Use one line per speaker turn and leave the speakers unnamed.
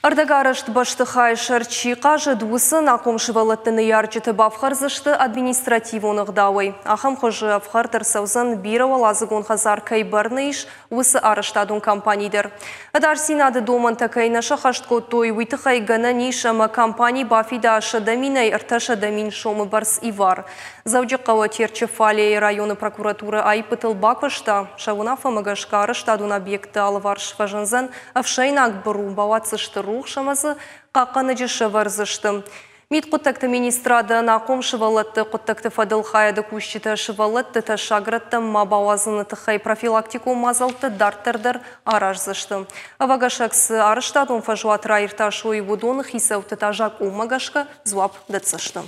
Ӕрдӕгарӕзт бӕстыхайы сӕр чи хъазыд, уыцы ӕнахъом сывӕллӕтты ныййарджыты бафхӕрдзысты административон ӕгъдауӕй. Ахӕм хуызы ӕфхӕрд ӕрцӕудзӕн, бирӕуӕладзыгон хӕдзар кӕй бӕрны ис, уыцы арӕзтадон компани дӕр. Ӕдасдзинады домӕнтӕ кӕй нӕ сӕххӕст кодтой, уый тыххӕй гӕнӕн ис, ӕмӕ компани бафида 100 000-ӕй 300 000 сомы бӕрц ивар. Дзӕуджыхъӕуы Терчыфалейы районы прокуратурӕ аиппытыл бакуыста. Сӕ уынаффӕмӕ гӕсгӕ арӕзтадон объектты алыварс фӕзындзӕн ӕфсӕйнаг быру, бауадздзысты рухс ӕмӕ дзы хъахъхъӕнӕджы сӕвӕрдзысты. Мидхъуыддӕгты министрады ӕнахъом сывӕллӕтты хъуыддӕгты фӕдыл хайады кусджытӕ сывӕллӕтты тӕссаг рӕттӕм ма бауадзыны тыххӕй профилактикон мадзӕлттӕ дарддӕр дӕр араздзысты. Ӕвӕгӕсӕг цы арӕзтадон фӕзуат раиртасой, уыдоны хицӕутты та закъонмӕ гӕсгӕ дзуапп дӕтдзысты.